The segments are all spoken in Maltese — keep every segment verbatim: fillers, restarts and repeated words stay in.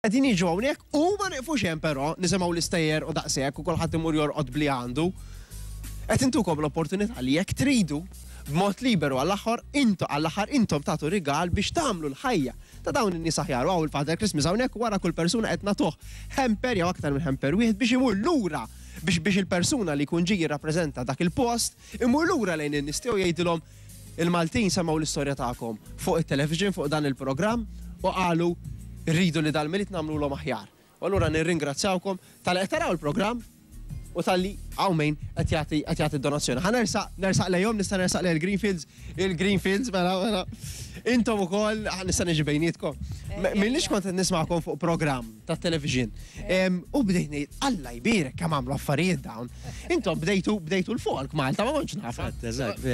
Qegħdin jiġu hawnhekk u ma nieqfux hemm, però nisimgħu l-istejjer u daqshekk u kulħadd imur jorqod bli għandu. Qed intukom l-opportunità li jekk tridu b'mod liberu għall-aħħar intu għall-aħħar intom tagħtu rigal biex tagħmlu l-ħajja ta' dawn in-nies aħjar. U il-Father Christmas hawnhekk, wara kull persuna qed nagħtuh hamper jew aktar minn hamper wieħed biex imur lura biex biex il-persuna li jkun ġie jirrappreżenta dak il-post imur lura lejn in-nies tiegħu, jgħidilhom: "Il-Maltin semgħu l-istorja tagħkom fuq it-television, fuq dan il-programm, u qalu rridu li dal-Milied nagħmluhom aħjar." U allura nirringrazzjawkom talli qed taraw il-programm u talli hawn min qed jagħti qed jagħti donazzjoni. Ħa nersaq nersaq lejhom, nista' nersaq lejn il-Greenfields, il-Greenfields, mela mela. Intom ukoll nista' niġi bejnietkom. M'ilnix kont qed nisma'kom fuq programm ta' television. U bdejt ngħid, "Alla jbierek, kemm għamlu affarijiet dawn." Intom bdejtu bdejtu l-folk Malta, ma kontx naf.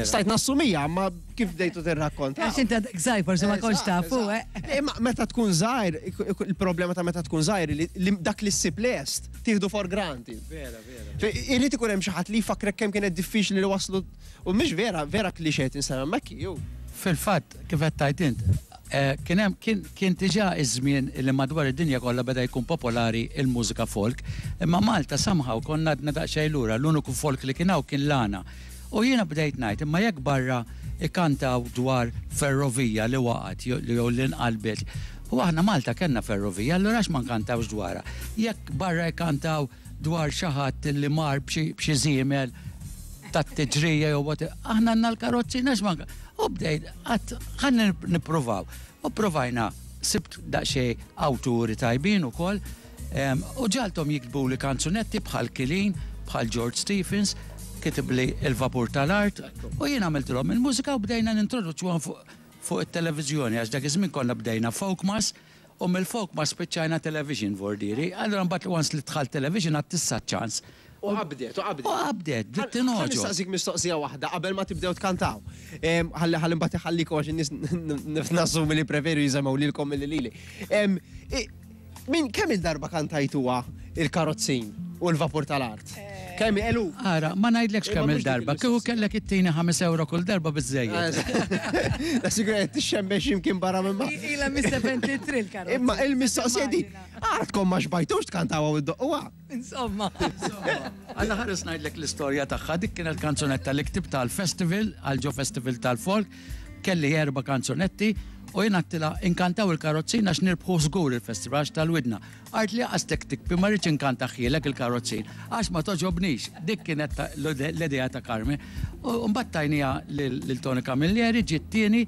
Stajt nassumija, ma kif bdejtu tirrakkonta. Għax inti għadek żgħir, forsi ma kontx tafu, eh. Imma meta tkun żgħir, il-problema ta' meta tkun żgħir li dak li ssib lest tieħdu for granted. Vera, vera. Irid ikun hemm xi ħadd li jfakkrek kemm kienet diffiċli li waslu u mhix vera, vera klixé tinsema hemmhekk ju. Fil-fatt, kif qed tgħid int, eh, kien hemm kien kien diġà iż-żmien li madwar id-dinja kollha beda jkun popolari il-mużika folk, imma Malta somehow konna għadna daqsxejn lura, l-uniku folk li kien hawn kien l-għana. U jiena bdejt ngħid, imma jekk barra ikantaw dwar ferrovija li waqgħet jew li nqalbet, u aħna Malta kellna ferrovija, allura għax ma nkantawx dwarha? Jekk barra jkantaw dwar xi ħadd li mar b'xi żiemel tat-tiġrija jew what, aħna għandna l-karozzi, għax ma? U bdejt, għedt, ħa nippruvaw. U provajna, sibt daqsxejn awturi tajbin ukoll, u ġagħalthom jiktbu li kanzunetti bħal Kilin, bħal George Stephens, kitib li Il-Vapur tal-Art, u jien għamiltilhom il-mużika u bdejna nintroduċuhom fuq it-televiżjoni, għax dak iż-żmien konna bdejna Folkmas, u mill-Folkmas spiċċajna television, vordiri. Allura mbagħad once li dħal television għedt issa ċans. U qabdet, u qabdet. U qabdet, bdiet tingħoġob. Nistaqsik mistoqsija waħda qabel ma tibdew tkantaw. Ħalli ħalli mbagħad iħallikom għax in-nies nassumi li preferu jisimgħu lilkom milli lili. Min kemm il-darba kantajtuha Il-Karozzin u L-Vapur tal-Art? Kemm elu? Ara, ma ngħidlekx kemm il-darba, kieku kellek ittini ħames euro kull darba, biżejjed. La sigur qed tixxemmex x'imkien barra minn ma. Ila mis-sebgħa u sebgħin il-karozza. Imma il-mistoqsija di, għadkom ma xbajtux tkantaw u ddoqquha? Insomma. Alla ħares ngħidlek l-istorja tagħha, dik kienet kanzunetta li ktibt tal-festival, għal ġo festival tal-folk, kelli erba' kanzunetti u jien għedtilha, "Inkantaw Il-Karozzin għax nirbħu żgur il-festival għax tal-widna." Qaltli, "Għastek tikbi, ma rridx inkantahielek Il-Karozzin għax ma togħġobnix." Dik kienet l-idea ta' Carmen. U mbagħad tajnieha lil Tony Camilleri, ġiet tieni,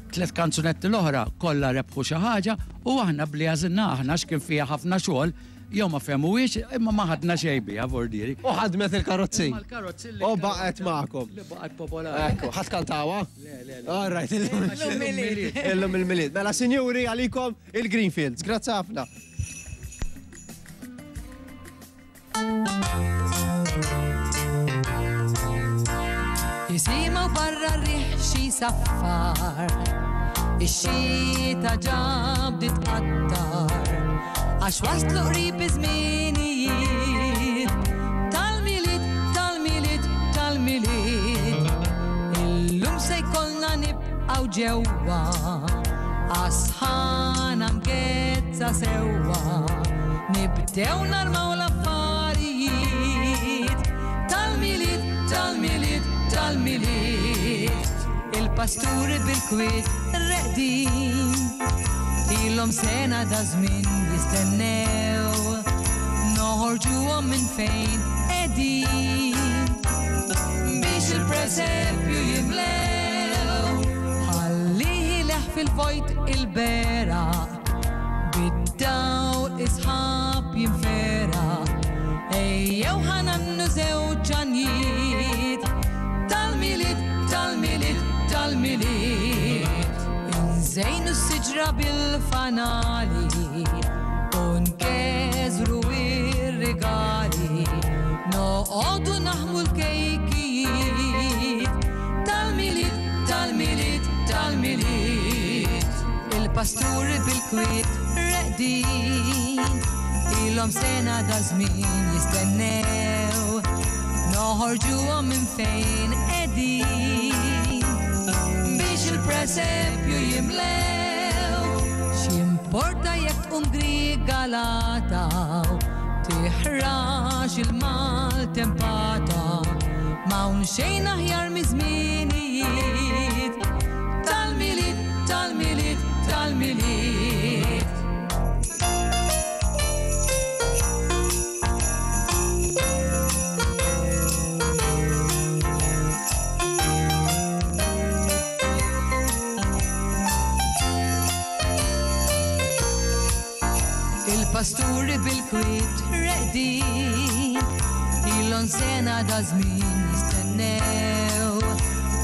tliet kanzunetti l-oħra kollha rebħu xi ħaġa u aħna bli għażilna aħna x'kien fiha ħafna xogħol jew ma fehmuhiex, imma ma ħadna xejn biha, vordiri. U ħadmet Il-Karozzin. U baqgħet magħkom. Li baqgħet popolari. Ekku, ħadd kantawha? Le, le, le. All right, illum il-Milied. Illum il-Milied. Mela, sinjuri, għalikom il-Greenfields. Grazzi ħafna. Jisimgħu barra r-riħ xi saffar, ix-xita ġa bdiet tqattar, għax waslu qrib iż-żminijiet tal-Milied, tal-Milied, tal-Milied. Illum se jkollna nibqgħu ġewwa, għas-sħana mgezza sewwa. Nibdew narmaw l-affarijiet tal-Milied, tal-Milied, tal-Milied. Il-pasturi bil-kwiet reqdin, ilhom sena da żmien jistennew noħorġuhom minn fejn qegħdin biex il-presepju jimlew. Ħalli leħ fil-vojt il-beraq, bid-dawl is-sħab jinfera. Ejjew ħa ngħannu żewġ għanjiet tal-Milied, tal-Milied, tal-Milied. Inżejnu s-siġra bil-fanali u nkeżru ir-regali, noqogħdu naħmu l-kejkijiet tal-Milied, tal-Milied, tal-Milied. Il-pasturi bil-kwiet reqdin, ilhom sena da żmien jistennew noħorġuhom minn fejn qegħdin biex il-presepju jimlew. X'jimporta jekk tqum griga? galata, tiħrax il-maltempata, m'hawn xejn aħjar miż-żminijiet tal-Milied, tal-Milied, tal-Milied. Il-pasturi bil-kwiet reqdin, ilhom sena da żmien jistennew,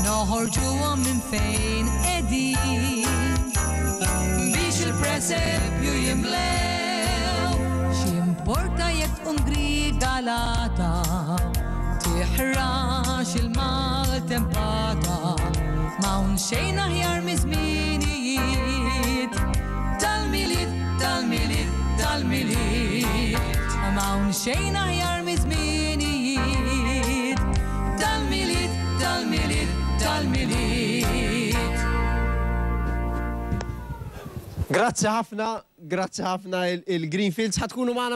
noħorġuhom minn fejn qegħdin biex il-presepju jimlew. X'importa jekk tkun grigalata, tiħrax il-maltempata, m'hawn xejn aħjar miż-żminijiet tal-Milied, tal-Milied, tal-Milied. M'hawn xejn aħjar miż-żminijiet tal-Milied, tal-Milied, tal-Milied. Grazzi ħafna, grazzi ħafna il-Greenfields. Ħa tkunu magħna.